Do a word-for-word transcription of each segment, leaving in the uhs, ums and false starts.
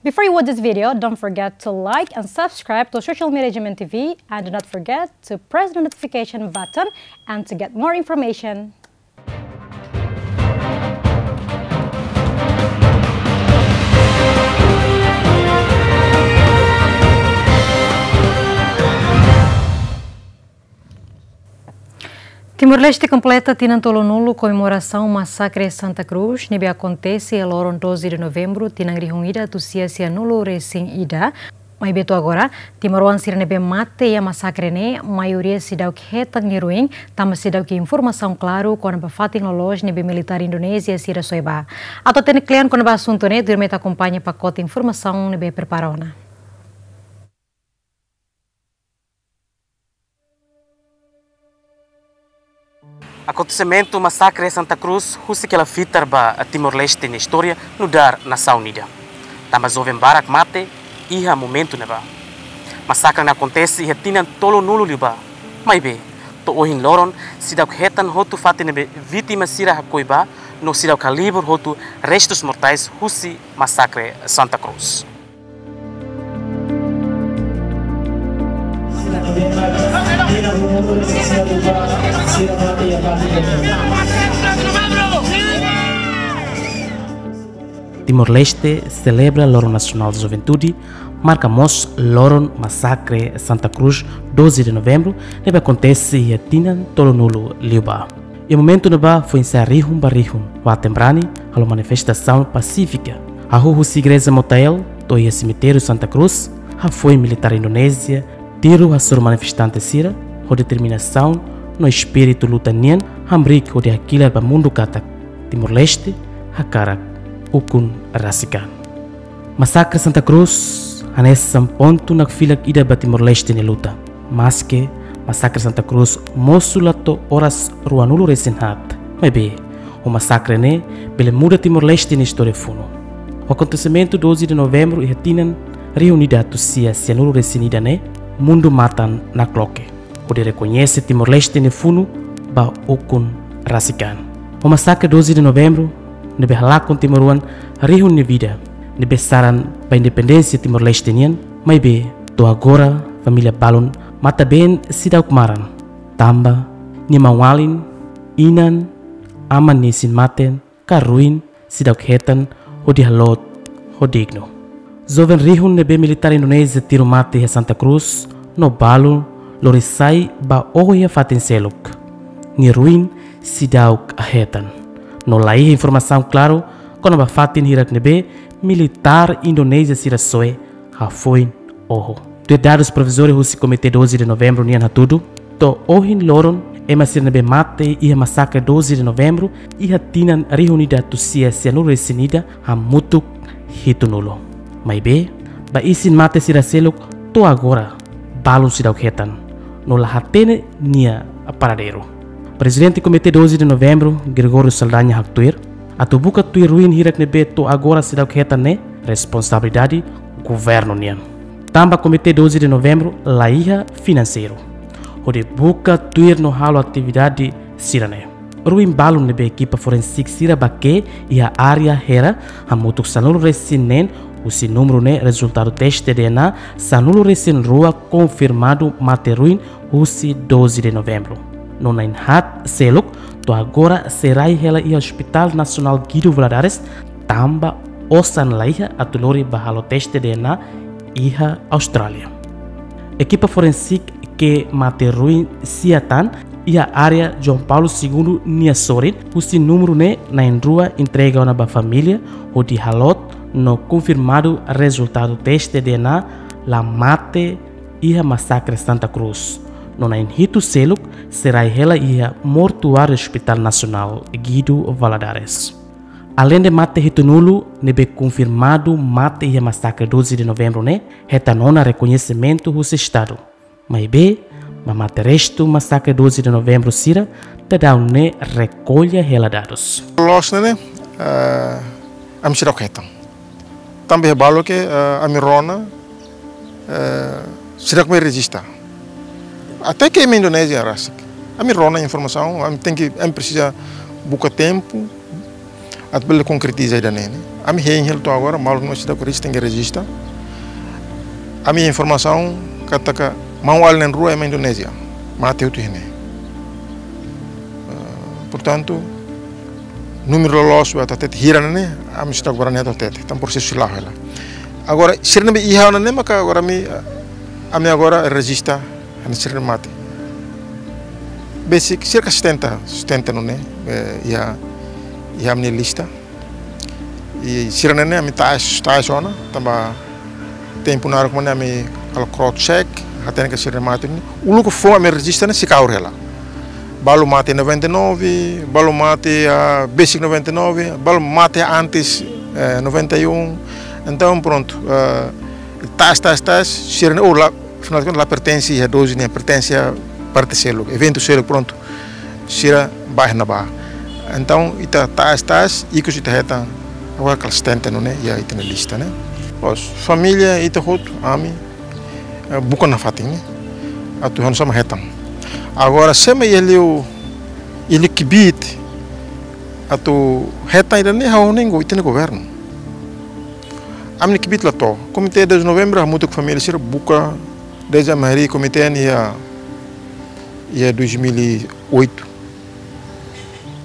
Before you watch this video, don't forget to like and subscribe to Social Media G M N T V, and do not forget to press the notification button and to get more information. Timor-Leste kompleta tinan tolunulu komemorasaun masakre Santa Cruz, ne'ebé akontese iha loron doze de novembro, tinan rihun ida atus sia sianulu resin ida. Maibé to'o agora, timoroan sira ne'ebé mate iha masakre ne'e, maioria seidauk hetan nia ruin, tanba seidauk iha informasaun klaru kona-ba fatin loloos ne'ebé militár Indonézia sira soe ba. Atu hatene kle'an kona-ba asuntu ne'e, tuirmai ita akompaña pakote informasaun ne'ebé prepara ona. Akontesimentu masakre Santa Cruz husik hela fitar ba Timor-Leste nia istória nu'udar nasaun ida. Tanba joven barak mate iha momentu ne'ebá. Masakre ne'e akontese iha tinan tolunulu liubá. Maibé, to'o ohin loron, seidauk hetan hotu fatin ne'ebé vítima sira hakoi ba, no seidauk halibur hotu restus mortais husi masakre Santa Cruz. Timor-Leste selebra Loron Nasionál Juventude, marka mós loron masakre Santa Cruz, doze de novembro, ne'ebé akontese iha tinan tolunulu liubá. Iha momentu ne'ebá foin-sa'e rihun ba rihun, waten brani, halo manifestasaun pasífika. Hahú husi igreja Motael, to'o iha semitériu Santa Cruz, hafoin militár Indonézia tiru hasoru manifestante sira, ho determinasaun no espíritu luta nian, hamriik hodi hakilar ba mundu katak Timor-Leste hakarak ukun rasik an. Masakre Santa Cruz hanesan pontu nakfilak ida ba Timor-Leste nia luta. Maske masakre Santa Cruz mosu la to'o oras ruanulu resin haat, maibé ho masakre ne'e bele muda Timor-Leste nia istória funu. Ho akontesimentu doze de novembro iha tinan rihun ida atus sia sianulu resin ida ne'e, mundu matan nakloke hodi rekoñese Timor-Leste nia funu ba ukun rasik an. Ho masakre doze de novembro, ne'ebé halakon timoroan rihun nia vida, ne'ebé saran ba independénsia Timor-Leste nian, maibé to'o agora família balun matan-been seidauk maran, tanba nia maun-alin, inan, aman nia isin-mate, ka ruin seidauk hetan hodi haloot ho dignu. Joven rihun ne'ebé militár Indonézia tiru mate iha Santa Cruz, no balu lori sai ba oho iha fatin seluk. Nia ruin seidauk hetan. No laiha informasaun klaru kona-ba fatin hirak ne'ebé militár Indonézia sira soe hafoin oho. Tuir dadus provizóriu husi Komité doze de Novembro nian hatudu, to'o ohin loron, ema sira ne'ebé mate iha masakre doze de novembro, iha tinan rihun ida atus sia sianulu resin ida, hamutuk hitunulu. Maibé, ba isin-mate sira seluk, to'o agora balun seidauk hetan, no la hatene nia paradeiru. Prezidente Komité doze de Novembro, Gregório Saldanha haktuir, atu buka tuir ruin hirak ne'ebé to'o agora seidauk hetan ne'e, responsabilidade governu nian. Tanba Komité doze de Novembro laiha finanseiru hodi buka tuir no halo atividade sira-ne'e. Ruin balun ne'ebé ekipa forensik sira bake'e iha área Hera, hamutuk sanulu resin neen, husi númeru ne'e rezultadu teste D N A sanulu resin rua konfirmadu mate ruin husi doze de novembro. No na'in-haat seluk, to'o agora sei rai hela iha Hospital Nasionál Guido Valadares, tanba osan laiha atu lori ba halo teste D N A iha Austrália. Ekipa forensik ke'e mate ruin sia tan iha área João Paulo Segundo nia sorin, husi númeru ne'e na'in-rua entrega ona ba família, hodi haloot no konfirmadu rezultadu teste D N A la mate iha masakre Santa Cruz. No na'in-hitu seluk sei rai hela iha mortuáriu Hospital Nasionál Guido Valadares. Aleinde mate hitunulu ne'ebé konfirmadu mate iha masakre doze de novembro ne'e, hetan ona rekoñesimentu husi Estadu. Maibé, ba mate restu masakre doze de novembro sira, daudaun ne'e rekolla hela dadus. Loos ne'e, eh, ami seidauk hetan. Tanba iha balu ke, eh, ami rona, eh, seidauk mai rejista. Até ke ema Indonézia rasik. Ami rona informasaun, ami tenke, ami presiza buka tempu atu bele konkretiza ida-ne'e. Ami hein hela to'o agora, maluk no sida ku rejista, tenke rejista. Ami informasaun katak maun-alin na'in rua ema Indonézia mate hotu iha ne'e. Ah, portantu, númeru loloos ba atu hatete hira ne'e, ami seidauk barani atu hatete, tanba prosesu sei la'o hela. Agora, sira ne'ebé iha ona ne'e maka agora ami, ami agora rejista hanesan sira ne'ebé mate. Besik sira ka setenta, setenta nune'e, eh, iha, iha ami-nia lista. I sira ne'e ne'e ami tau, tau ona, tanba tempu naruk mak ne'e ami halo cross check, hatene katak sira ne'ebé mate ne'e. Uluk foun ami rejista ne'e sei kahur hela. Balu mate noventa e nove, balu mate, ah, besik noventa e nove, balu mate antes, eh, noventa e um. Entaun, prontu, eh, tau, tau, tau, sira ne'e, oh, la, afinál de contas, la pertense iha doze nian, pertense iha parte seluk, eventu seluk, prontu. Sira bá iha ne'ebá. Entaun, ita tau, tau, ikus ita hetan, agora kala setenta nune'e, iha ita-nia lista ne'e. Loos, família ita hotu, ami, eh, buka nafatin ne'e. Atu hanesan ema hetan. Agora, se ema iha liu, iha liu kbiit atu hetan ida-ne'e, ha'u hanoin ita-nia governu. Ami-nia kbiit la to'o. Komité doze de Novembro, hamutuk família sira buka, dezde ami harii komité ne'e iha, iha dois mil e oito.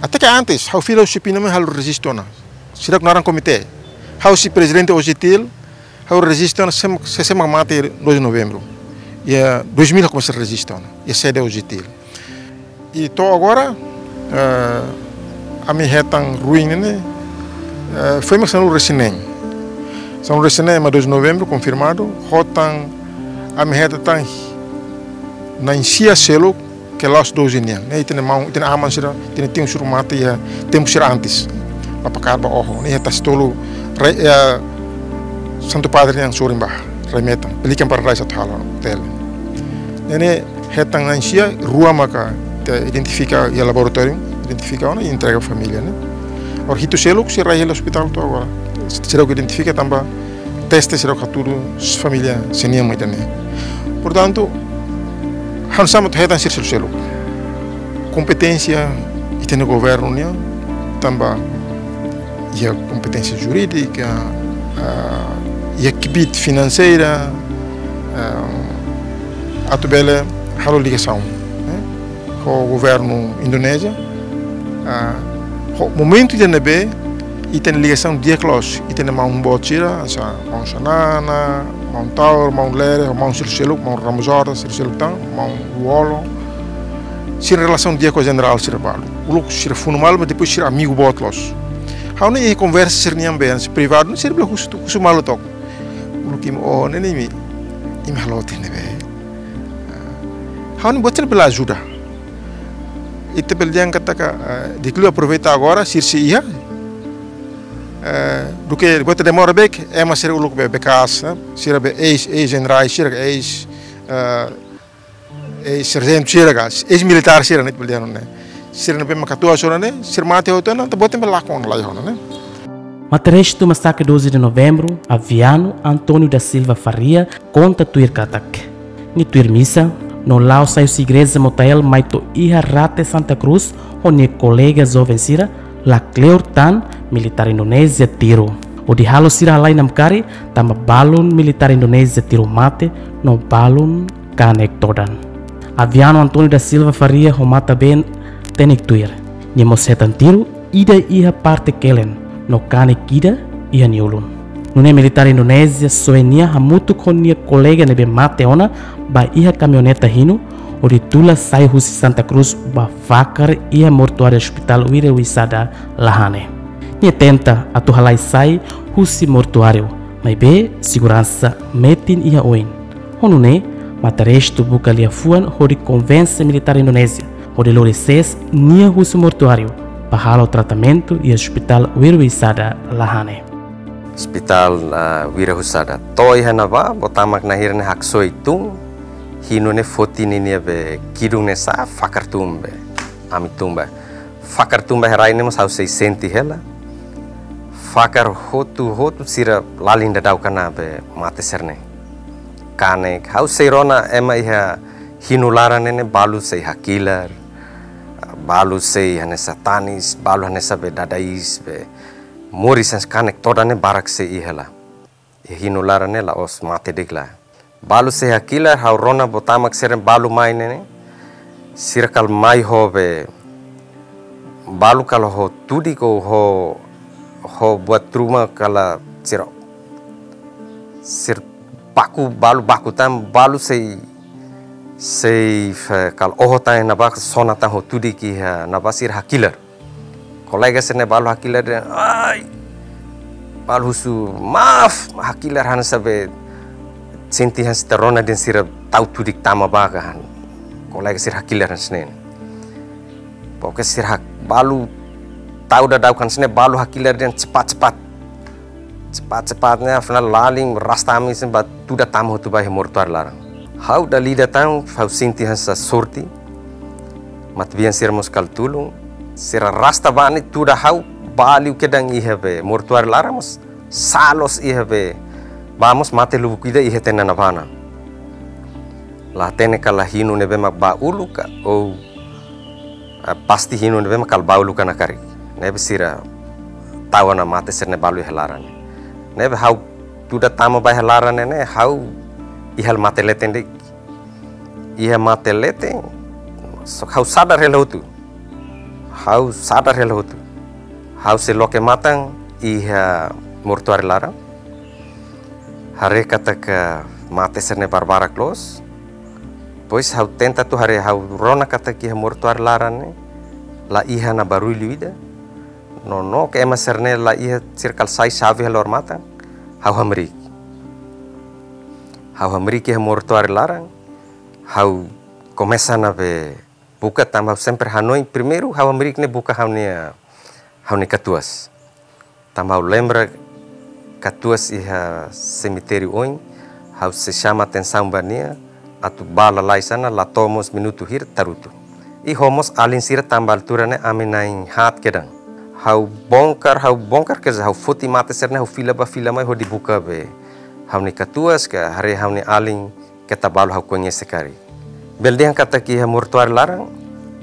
Até ke antes, ha'u fila husi Pinamai halo rejistu ona. Sira ku naran komité. Ha'u husi prezidente OJTL, ha'u rejistu ona se ema, se, se ema mate doze de Novembro. Iha dois mil komesa rejistu ona. Iha sede OJTL. I to'o agora, eh, ami hetan ruin ne'e, eh, foin mak sanulu-resin-neen. Sanulu-resin-neen ema doze de Novembro, konfirmadu, ho tan ami hetan tan na'in-sia seluk, ke la'ós doze nian. Ne'e ita-nia maun, ita-nia aman sira, ita-nia tiun sira mate iha tempu sira antes. La pakat ba oho, ne'e iha Tasitolu, rai, eh, Santu Padre nian sorin ba, rai metan, Pelican Paradise atu halo hotel. Ne'e ne'e hetan na'in-sia, rua maka ita identifika iha laboratóriu, identifika ona i entrega família ne'e. Agora hitu seluk sira rai hela ospitál to'o agora. Seidauk identifika tanba teste seidauk hatudu família sé nian mak ida-ne'e. Portantu, hanesan ema atu hetan sira seluk-seluk. Kompeténsia ita-nia governu nian, tanba iha kompeténsia jurídika, ah, iha kbiit finanseira, ah, atu bele halo ligasaun, eh, ho governu Indonézia. Ah, ho momentu ida ne'ebé ita-nia ligasaun di'ak loos, ita-nia maun boot sira, hanesan maun Xanana, maun Taur, maun Lere, ho maun seluk-seluk, maun Ramos Horta, seluk-seluk tan, maun Lú-Olo. Sira relasaun di'ak ho jenerál sira balu. Uluk sira funu malu, mas depois sira amigu boot loos. Ha'u hanoin iha konversa sira-nian be, hanesan privadu, sira bele husu, husu malu took. Uluk imi, oh, ne'e ne'e imi, imi halo tiha ne'ebé. Ah, ha'u hanoin buat sira bele ajuda. Ita bele dehan katak, eh, di'ak liu aproveita agora, sira sei iha. Eh, duké buat demora beik, ema sira uluk be, bekas, eh, sira be eis, eis-jenerais, sira eis, eh, eis-sarjentu sira ka, eis-militár sira ne'e, ita bele dehan ne'e. Sira ne'ebé mak atu ajuda ne'e, sira mate hotu ona, ita-boot bele lakon lai ona ne'e. Mata-restu Masakre doze de Novembro, Aviano António da Silva Faria, konta tuir katak, nia tuir misa, no la'o sai husi igreja Motael mai to'o iha rate Santa Cruz, ho nia kolega joven sira, la kleur tan militár Indonézia tiru. Hodi halo sira halai namkari, tanba balun militár Indonézia tiru mate, no balun kanek todan. Aviano António da Silva Faria ho matan-been tenik tuir. Nia mós hetan tiru, ida iha parte kelen, no kanek ida iha nia ulun. Nune'e militár Indonézia soe nia hamutuk ho nia kolega ne'ebé mate ona ba iha kamioneta hinu, hodi tula sai husi Santa Cruz ba fakar iha mortuáriu Hospital Wira Wisata Lahane. Nia tenta atu halai sai husi mortuáriu, maibé seguransa metin iha oin. Ho nune'e, mata-restu buka liafuan hodi konvense militár Indonézia hodi lori sees nia husi mortuáriu ba halo tratamentu iha Hospital Wira Wisata Lahane. Hospital, ah, Wira Wisata. To'o iha ne'ebá, boot mak na'in hira ne'e haksoit tun, hinu ne'e foti ninia be kidun ne'e sa'e, fakar tun be ami tun ba. Fakar tun ba iha rai ne'e mós ha'u sei sente hela. Fakar hotu-hotu sira lalin daudauk ona be mate sira-ne'e. Kanek, ha'u sei rona ema iha hinu laran ne'e ne'e balu sei hakilar, balu sei hanesan tanis, balu hanesan be dada-iis be. Moris hanesan kanek todan ne'e barak sei iha laran. Iha hinu laran ne'e la'ós mate de'it lae. Balu sei hakilar, ha'u rona botama sira balu mai ne'e ne'e. Sira kala mai ho be. Balu kala ho tudik ka ho, ho buat ruma kala sira. Sira baku, balu baku tan, balu sei, sei fe-, kala oho tan ne'ebá, sona tan ho tudik iha ne'ebá sira hakilar. Kolega sira-ne'e balu hakilar dehan, ai. Balu husu, maaf, hakilar hanesan be sente hanesan ita rona dehan sira tau tudik tama ba ka han. Kolega sira hakilar hanesan ne'e. Pokoknya sira hak-, balu tau daudaun hanesan ne'e, balu hakilar dehan cepat-cepat. Cepat-cepat ne'e, afinál lalin rasta ami sira ba tuda tama hotu ba iha mortuáriu laran. Ha'u dala ida tan, ha'u sente hanesan sorte. Matebian sira mós kala tulun. Sira rasta ba ne'e tuda ha'u ba liu kedan iha be mortuáriu laran mós sá loos iha be. Ba mós mate lubuk ida iha tiha ona ne'ebá. La hatene kala hinu ne'ebé mak ba uluk ka, ou ah, pasti hinu ne'ebé mak kala ba uluk ona karik. Ne'ebé sira tau ona mate sira-ne'e balu iha laran. Ne'ebé ha'u tuda tama ba iha laran ne'e ne'e, ha'u iha mate leten de'it. Iha mate leten, só ha'u sadar hela hotu. Ha'u sadar hela hotu. Ha'u sei loke matan iha mortuáriu laran. Haree katak mate sira-ne'e barbarak loos. Depois ha'u tenta atu haree, ha'u rona katak iha mortuáriu laran ne'e la iha ona barullu ida. Nonook ema sira-ne'e la iha, sira kala sai xave hela odamatan. Ha'u hamriik. Ha'u hamriik iha mortuáriu laran. Ha'u komesa ona be buka tanba ha'u sempre hanoin primeiru ha'u hamriik ne'e buka ha'u-nia, ha'u-nia katuas. Tanba ha'u lembra katuas iha semitériu oin, ha'u sei xama atensaun ba nia, atu ba lalais ona, la to'o mós minutu hira tarutu. I ho mós alin sira tanba altura ne'e ami na'in haat kedan. Ha'u bongkar, ha'u bongkar, quer dizer, ha'u foti mate sira-ne'e, ha'u fila ba fila mai hodi buka be ha'u-nia katuas ka haree ha'u-nia alin, keta balu ha'u koñese karik. Bele dehan katak iha mortuáriu laran,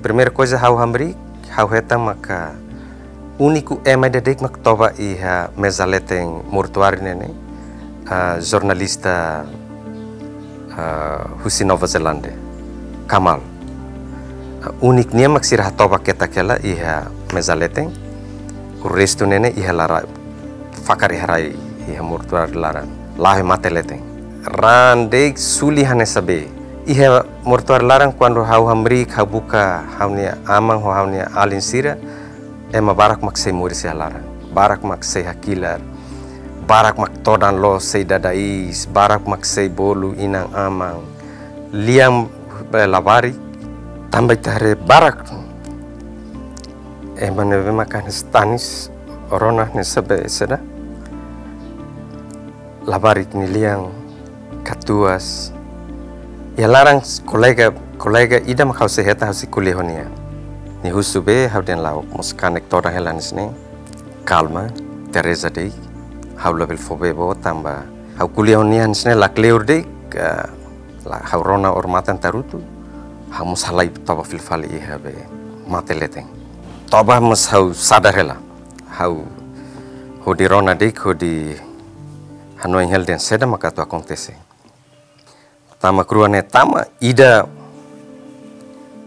primeira coisa ha'u hamriik, ha'u hetan maka úniku ema ida de'it mak toba iha meza leten mortuáriu ne'e ne'e, ah, jornalista, ah, husi Nova Zelándia, Kamal. Ah, úniku nia mak sira hatoba ketak hela iha meza leten, o restu ne'e ne'e iha laran, fakar iha rai, iha mortuáriu laran. La'o iha mate leten. Raan de'it suli hanesan be. Iha mortuáriu laran kuandu ha'u hamriik ha'u buka ha'u-nia aman ho ha'u-nia alin sira, ema barak mak sei moris iha laran. Barak mak sei hakilar. Barak mak todan loos sei dada iis, barak mak sei bolu inan-aman. Lian be labarik, tanba ita haree barak. Ema ne'ebé mak hanesan tanis, rona hanesan be saida. Labarik nia lian, katuas. Iha laran kolega, kolega ida mak ha'u sei hetan ha'u sei ko'alia ho nia. Nia husu be ha'u dehan la'o, mós kanek todan hela hanesan ne'e. Kalma, Teresa de'it. Ha'u labele fó bee ba ó tanba ha'u ko'alia ho nia hanesan ne'e lakleur de'it, ka la ha'u rona odamatan tarutu. Ha'u mós halai toba fila fali iha be mate leten. Toba mós ha'u sadar hela. Ha'u hodi rona de'it, hodi hanoin hela dehan saida mak atu akontese. Tama rua ne'e tama, ida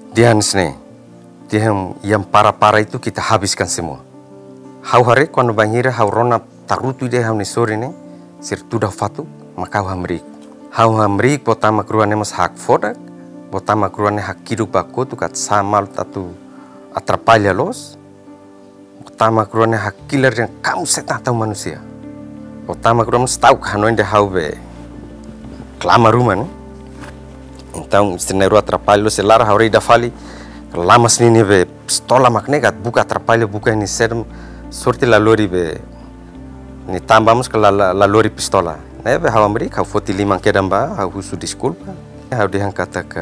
dehan hanesan ne'e. Dehan yang parah-parah itu kita habiskan semua. Ha'u haree kuandu bainhira ha'u rona tarutu ida ha'u-nia sorin ne'e, sira tuda fatuk, maka ha'u hamriik. Ha'u hamriik, boot tama rua ne'e mós hakfodak, boot tama rua ne'e hakiduk ba kotuk atu sá malu atu atrapalla loos. Boot tama rua ne'e hakilar dehan kamu setan atau manusia. Boot tama rua mós ta'uk hanoin dehan ha'u be klamar ruma ne'e. Entaun sira na'in-rua atrapalla loos iha laran, ha'u haree ida fali, lamas ninia be pistola mak ne'e ka atu buka atrapalla buka iha nia sedem, sorte la lori be nia tan ba mós ka la, la, la lori pistola. Ne'ebé ha'u hamriik, ha'u foti liman kedan ba, ha'u husu deskulpa. Ha'u dehan katak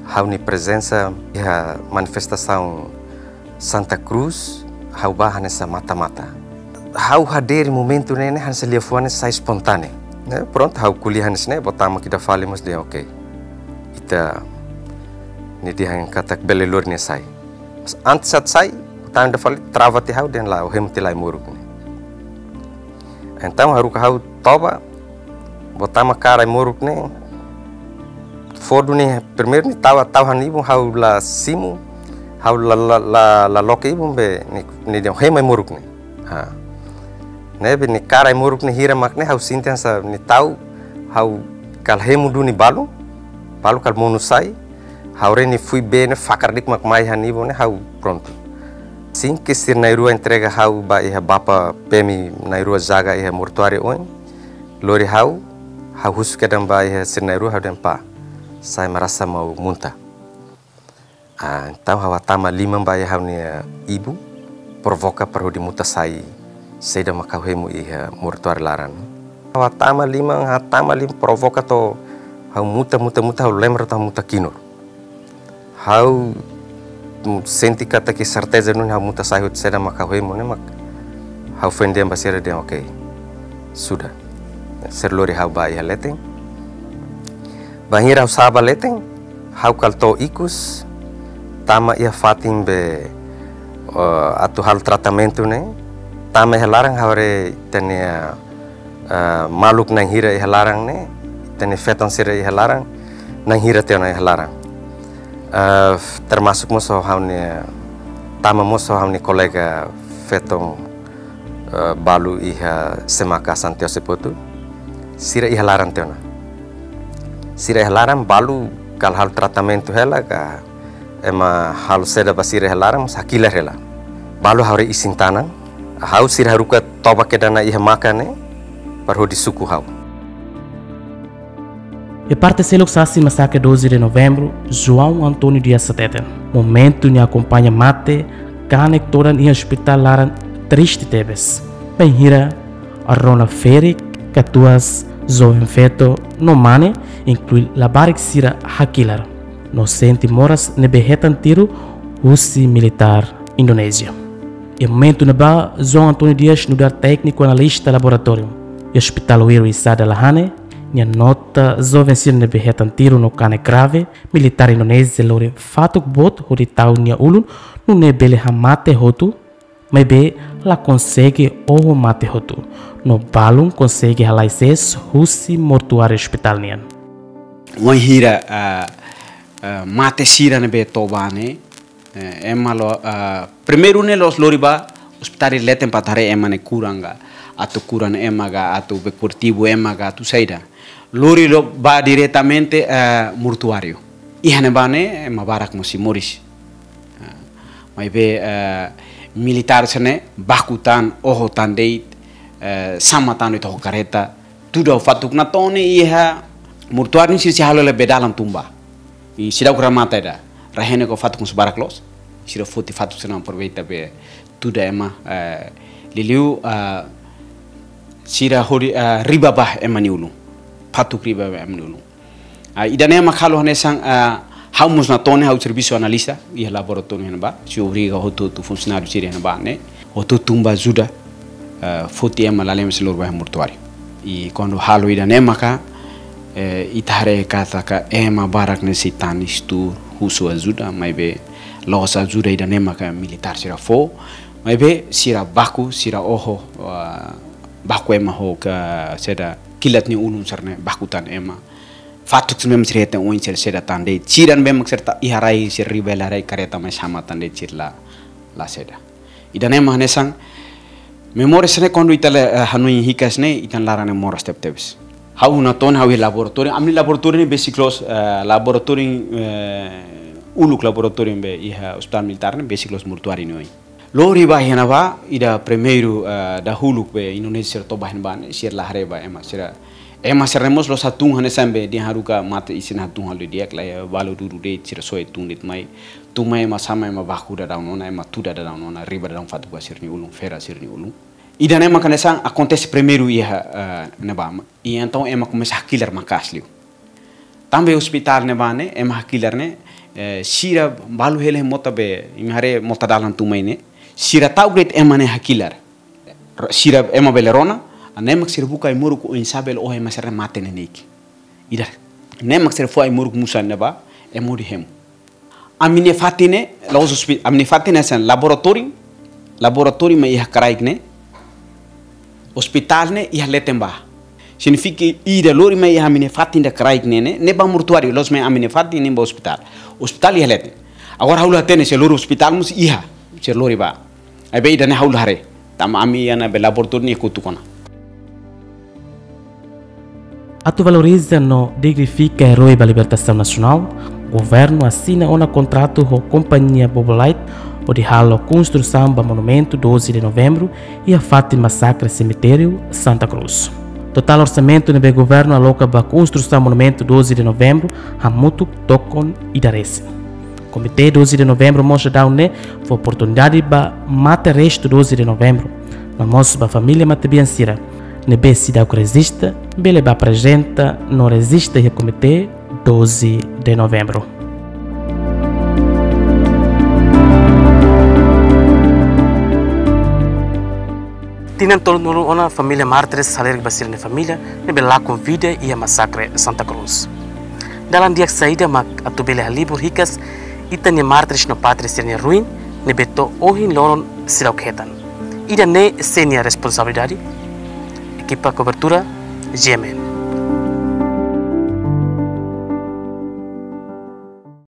ha'u-nia prezensa iha manifestasaun Santa Cruz, ha'u ba hanesan mata-mata. Ha'u hadere momentu ne'e ne'e hanesan liafuan ne'e sai espontáneu. Ne'e, prontu, ha'u ko'alia hanesan ne'e, boot tama ida fali mós dehan oke. Ita, nia dehan katak bele lori nia sai. Mas antes atu sai, boot tama ida fali trava tiha ha'u dehan la'o, hemu tiha lai moruk ne'e. Entaun haruka ha'u toba, botama kara ai-moruk ne'e, fó duni primeiru nia tau, tau han ibun, ha'u la simu, ha'u la, la, la, la loke ibun be nia, nia dehan hemu ai-moruk ne'e. Ha. Ne'ebé nia kara ai-moruk ne'e hira mak ne'e ha'u sente hanesan nia tau, ha'u kala hemu duni balu, balu kala monu sai, ha'u haree nia fui bee ne'e fakar di'ak mak mai han ibun ne'e ha'u prontu. Sin ke sira na'in-rua entrega ha'u ba iha bapa P M na'in-rua jaga iha mortuáriu oin, lori ha'u, ha'u husu kedan ba iha sira na'in-rua ha'u dehan pá, sa'e marasa mau munta. Ah, entaun ha'u hatama liman ba iha ha'u-nia ibun, provoka para hodi muta sai, saida mak ha'u hemu iha mortuáriu laran. Ha'u hatama liman, hatama liman provoka to'o ha'u muta, muta, muta, ha'u lembra to'o ha'u muta kinur. Ha'u sente katak serteza nune'e ha'u muta sai hotu saida mak ha'u hemu ne'e mak ha'u foin dehan ba sira dehan oke. Sudah. Sira lori ha'u ba iha leten. Bainhira ha'u sa'e ba leten, ha'u kala to'o ikus, tama iha fatin be, eh, atu halo tratamentu ne'e, tama iha laran ha'u haree ita-nia, eh, maluk na'in hira iha laran ne'e, ita-nia feton sira iha laran, na'in hira tiha ona iha laran. Eh, termasuk mós ha'u-nia, tama mós ha'u-nia kolega feton eh, balu iha SEMACA Santiago Sepotu, sira iha laran tiha ona. Sira iha laran balu kala halo tratamentu hela ka ema halo saida ba sira iha laran mós hakilar hela. Balu ha'u haree isin-tanan, ha'u sira haruka toba kedan ona iha maka ne'e, para hodi suku ha'u. Iha parte seluk sasin masakre doze de Novembru, João António Dias hateten. Momentu nia akompaña mate, kanek todan iha ospitál laran triste tebes. Bainhira rona ferik, katuas, joven feto, no mane, inklui labarik sira hakilar. No sente moras ne'ebé hetan tiru husi militár Indonézia. Iha momentu ne'ebá, João António Dias nu'udar tékniku analista laboratóriu iha Ospitál Wiri Sada la hanesan, nia nota joven sira ne'ebé hetan tiru no kanek grave, militár Indonézia lori fatuk boot hodi tau nia ulun, nune'e bele hamate hotu, maibé la konsege oho mate hotu. No balun konsege halai sees husi mortuáriu ospitál nian. Wainhira, ah, ah, mate sira ne'ebé toba ne'e, eh, ema lori, ah, primeiru ne'e la'ós lori ba ospitál leten para atu haree ema ne'e kuran ka, atu kuran ema ka, atu be kurativu ema ka, atu saida. Lori lori ba diretamente, eh, mortuáriu. Iha ne'ebá ne'e ema barak mós sei moris. Ah, maibé, eh, militár sira-ne'e baku tan, oho tan de'it, eh, sama tan de'it ho karreta. Tuda fatuk natoon iha mortuáriu sira sei halo hela be dalan tun ba. I seidauk remata ida. Rai-henek ho fatuk mós barak loos. Sira foti fatuk sira-ne'e aproveita be tuda ema, eh, liuliu, eh, sira hodi, eh, riba ba ema nia ulun. Fatuk riba ba ema nia ulun. Ah, ida-ne'e mak halo hanesan, ah, ha'u mós natoon ne'e ha'u servisu analista iha laboratóriu iha ne'ebá, sei obriga hotu-hotu funsionáriu sira iha ne'ebá ne'e, hotu-hotu tun ba ajuda, ah, foti ema lalehan sira lori ba iha mortuáriu. I kuandu halo ida-ne'e maka, eh, ita haree katak ema barak ne'e sei tanis tuur husu ajuda, maibé la'ós ajuda ida-ne'e maka militár sira fó, maibé sira baku, sira oho, ah, baku ema ho ka saida kilat nia ulun sira-ne'e baku tan ema. Fatuk sira-ne'e sira hetan oin sira saida tan de'it. Sira-ne'ebé mak sira tau iha rai sira riba hela rai karreta mai sama tan de'it sira la, la saida. Ida-ne'e mak hanesan memória sira-ne'e kuandu ita la, eh, hanoin hikas ne'e ita-nia laran ne'e moras tebetebes. Ha'u natoon ha'u iha laboratóriu, ami-nia laboratóriu ne'e besik loos, eh, laboratóriu, eh, uluk laboratóriu be iha ospitál militár ne'e besik loos mortuáriu nia oin. Lori ba iha ne'ebá, ida primeiru, eh, dahuluk be Indonézia sira toba iha ne'ebá ne'e, sira la haree ba ema sira. Ema sira-ne'e mós la'ós hatún hanesan be dehan haruka mate isin hatún halo di'ak lae, balu dudu de'it sira soe tun de'it mai. Tun mai ema sama ema baku daudaun ona, ema tuda daudaun ona, riba daudaun fatuk ba sira-nia ulun, fera sira-nia ulun. Ida-ne'e mak hanesan akontese primeiru iha, eh, ne'ebá. I entaun ema komesa hakilar maka'as liu. Tanba ospitál ne'ebá ne'e, ema hakilar ne'e, eh, sira balu hela iha mota be, imi haree mota dalan tun mai ne'e. Sira ta'uk de'it ema ne'e hakilar. Sira ema bele rona, ne'e mak sira buka ai-moruk oinsá bele oho ema sira mate neineik. Ida. Ne'e mak sira fó ai-moruk musan ne'ebá, ema hodi hemu. Ami-nia fatin ne'e, la'ós hospi-, ami-nia fatin ne'e hanesan laboratóriu, laboratóriu mak iha kraik ne'e. Ospitál ne'e iha leten ba. Signifika ida lori mai iha ami-nia fatin ida kraik ne'e, ne'e, ne'e ba mortuáriu, la'ós mai ami-nia fatin ne'e ba ospitál. Ospitál iha leten. Agora ha'u la hatene se lori ospitál mós iha, se lori ba. Maibé ida-ne'e ha'u la haree. Tanba ami iha ne'ebé laboratóriu nia kotuk ona. Atu valoriza no dignifika erói ba libertasaun nasionál, governu asina ona kontratu ho kompañia Bobolite hodi halo konstrusaun ba monumentu doze de Novembru iha fatin masakre semitériu Santa Cruz. Totál orsamentu ne'ebé governu aloka ba konstrusaun monumentu doze de Novembru hamutuk tokon ida resin. Komité doze de Novembru mós daudaun ne'e fó oportunidade ba mate restu doze de Novembru, no mós ba família matebian sira ne'ebé seidauk rejista bele ba aprezenta no rejista iha Komité doze de Novembru. Tinan tolunulu ona família mártires halerik ba sira-nia família ne'ebé lakon vida iha masakre Santa Cruz. Dalan di'ak saida mak atu bele halibur hikas ita-nia mártires no pátria sira-nia ruin ne'ebé to'o ohin loron seidauk hetan? Ida-ne'e sé nia responsabilidade? Ekipa kobertura, G M N.